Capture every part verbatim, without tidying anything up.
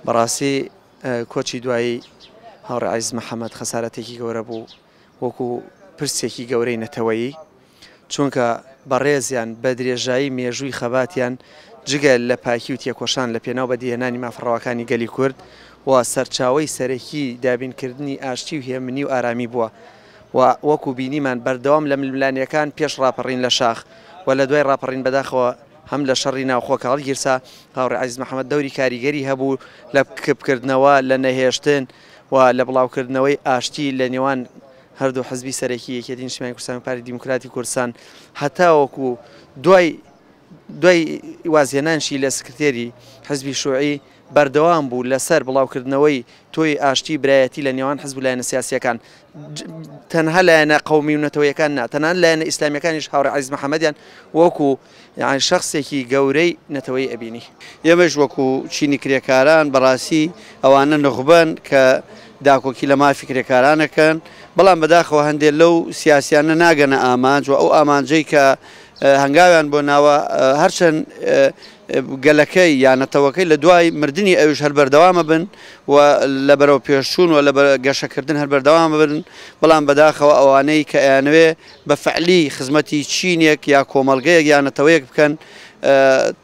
بەڕاستی کۆچی دوایی هاوڕێ عەزیز محەممەد خەسارەتێکی گەورە بوو وەکو پرسێکی گەورەی نەتەوەیی، چونکە بەڕێزیان بە درێژایی مێژووی خەباتیان جگە لە پاکی و تێکۆشان لە پێناو بەدیهێنانی مافڕەواکانی گەلی کورد و سەرچاوەی سەرەکی دابینکردنی ئاشتی و هێمنی و ئارامی بووە و وەکو بینیمان بەردەوام لە ململانیەکان پێش ڕاپەڕین لە شاخ و لە دوای ڕاپەڕین بەداخەوە هەم لە شەڕی ناوخۆ کە هەڵگیرسا هاوڕێ عەزیز محەممەد دەوری کاریگەری هەبوو لە کپکردنەوە، لە نەهێشتن و لە بڵاوکردنەوەی ئاشتی لە نێوان هەردوو حزبی سەرەکی یەکێتی نیشتمانی کوردستان و پارتی دیموکراتی کوردستان هەتاوەکو دوای دوای وازهێنانشی لە سکرتێری حزبی شوعی بەردەوام بوو لەسەر بڵاوکردنەوەی تۆی ئاشتی برایەتی لە نێوان حزب و لایەنە سیاسیەکان، تەنها لایەنە قەومی و نەتەوەیەکان نا، تەنها لایەنە ئیسلامیەکانیش هاوڕێ عەزیز محەممەدیان وەکو یان شخصێکی گەورەی نەتەوەی ئەبینی. ئێمەش وەکو چینی کرێکاران بەڕاستی ئەوانە نوخبەن کە داکۆکی لە مافی کرێکارانەکەن، بەڵام بەداخەوە هەندێک لەو سیاسیانە ناگەنە ئامانج و ئەو ئامانجەی کە هەنگاویان بۆ ناوە هەرچەند گەلەکەی یان نەتەوەکەی لە دوای مردنی ئەویش هەر بەردەوامە بن و لە بەرەو پێشچوون و لە گەشەکردن هەر بەردەوامە بن، بەڵام بەداخەوە ئەوانەی کە ئەیانەوێ بە فعلی خزمەتی چینێک یا کۆمەڵگەیەک یا نەتەوەیەک بکەن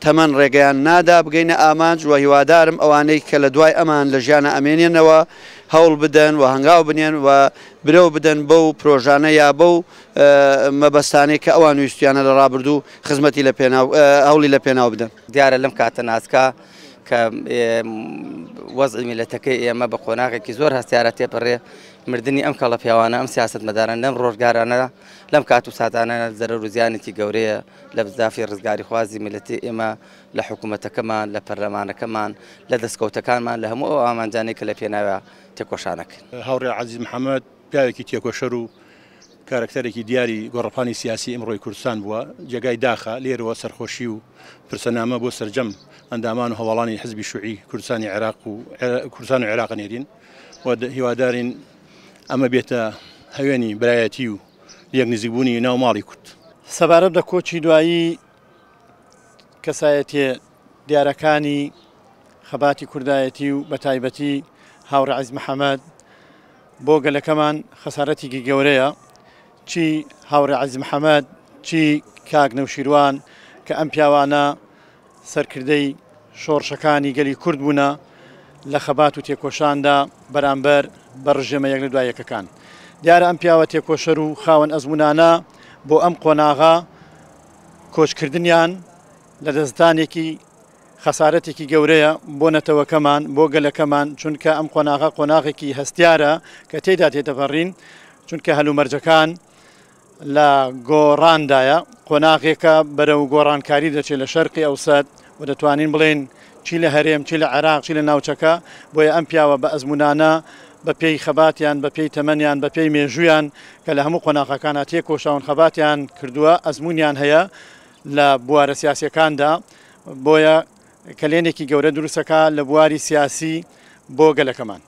تەمەن ڕێگەیان نادا بگەینە ئامانج و هیوادارم ئەوانەی کە لە دوای ئەمان لە ژیانە ئەمێنێنەوە هەوڵ بدەن و هەنگاو بنێن و برەو بدەن بەو پرۆژانە یا بەو مەبەستانەی کە ئەوان ویستیانە لە ڕابردوو خزمەتی لە پێناو هەوڵی لە پێناو بدەن. دیارە لەم کاتە ناسکە کە وەزعی میلەتەکەی ئێمە بە قۆناغێکی زۆر هەستیارە تێپەڕێ، مردنی ئەم کەڵە پیاوانە، ئەم سیاسەتمەداران لەم ڕۆژگارانە لەم کات و ساتانە زەرەر و زیانێکی گەورەیە لە بزافی ڕزگاریخوازی میلەتی ئێمە لە حکوومەتەکەمان، لە پەرلەمانەکەمان، لە دەستکەوتەکانمان، لە هەموو ئەو ئامانجانەی کە لە پێناوە تێکۆشانەکەن. هاوڕێ عەزیز محەممەد پیاوێکی تێکۆشەر و کارکتەرێکی دیاری گۆڕەپانی سیاسی ئیمڕۆی کوردستان بووە، جێگای داخە لێرەوە سەرخۆشی و پرسەنامە بۆ سەرجەم ئەندامان و هەواڵانی حزبی شوعی کوردستانی عێراق و کوردستان و عێراق نێرین و هیوادارین ئەمە بێتە هەوێنی برایەتی و یەک نزیکبوونی ناو ماڵی کورد. سەبارەت بە کۆچی دوایی کەسایەتیە دیارەکانی خەباتی کوردایەتی و بەتایبەتی هاوڕێ عەزیز محەممەد بۆ گەلەکەمان خەسارەتێکی گەورەیە، چی هاوڕێ عەزیز محەممەد چی کاک نەوشیروان کە ئەم پیاوانە سەرکردەی شۆڕشەکانی گەلی کورد بوونە لە خەبات و تێکۆشاندا بەرامبەر بە ڕژێمە یەک لە دوای یەکەکان. دیارە ئەم پیاوە تێکۆشەر و خاوەن ئەزمونانە بۆ ئەم قۆناغە کۆچکردنیان لە دەستدانێکی خەسارەتێکی گەورەیە بۆ نەتەوەکەمان، بۆ گەلەکەمان، چونکە ئەم قۆناغە قۆناغێکی هەستیارە کە تێدا تێدەپەڕین، چونکە هەلومەرجەکان لە گۆڕاندایە، قۆناغێکە بەرەو گۆڕانکاری دەچێت لە شەرقی ئەوسەد و دەتوانین بڵێن چی لە هەرێم، چی لە عێراق، چی لە ناوچەکە. بۆیە ئەم پیاوە بە ئەزمونانە بە پێی خەباتیان، بە پێی تەمەنیان، بە پێی مێژوویان کە لە هەموو قۆناغەکانە تێکۆشاون خەباتیان کردووە، ئەزمونیان هەیە لە بوارە سیاسیەکاندا، بۆیە کەلێنێکی گەورە دروستەکە لە بواری سیاسی بۆ گەلەکەمان.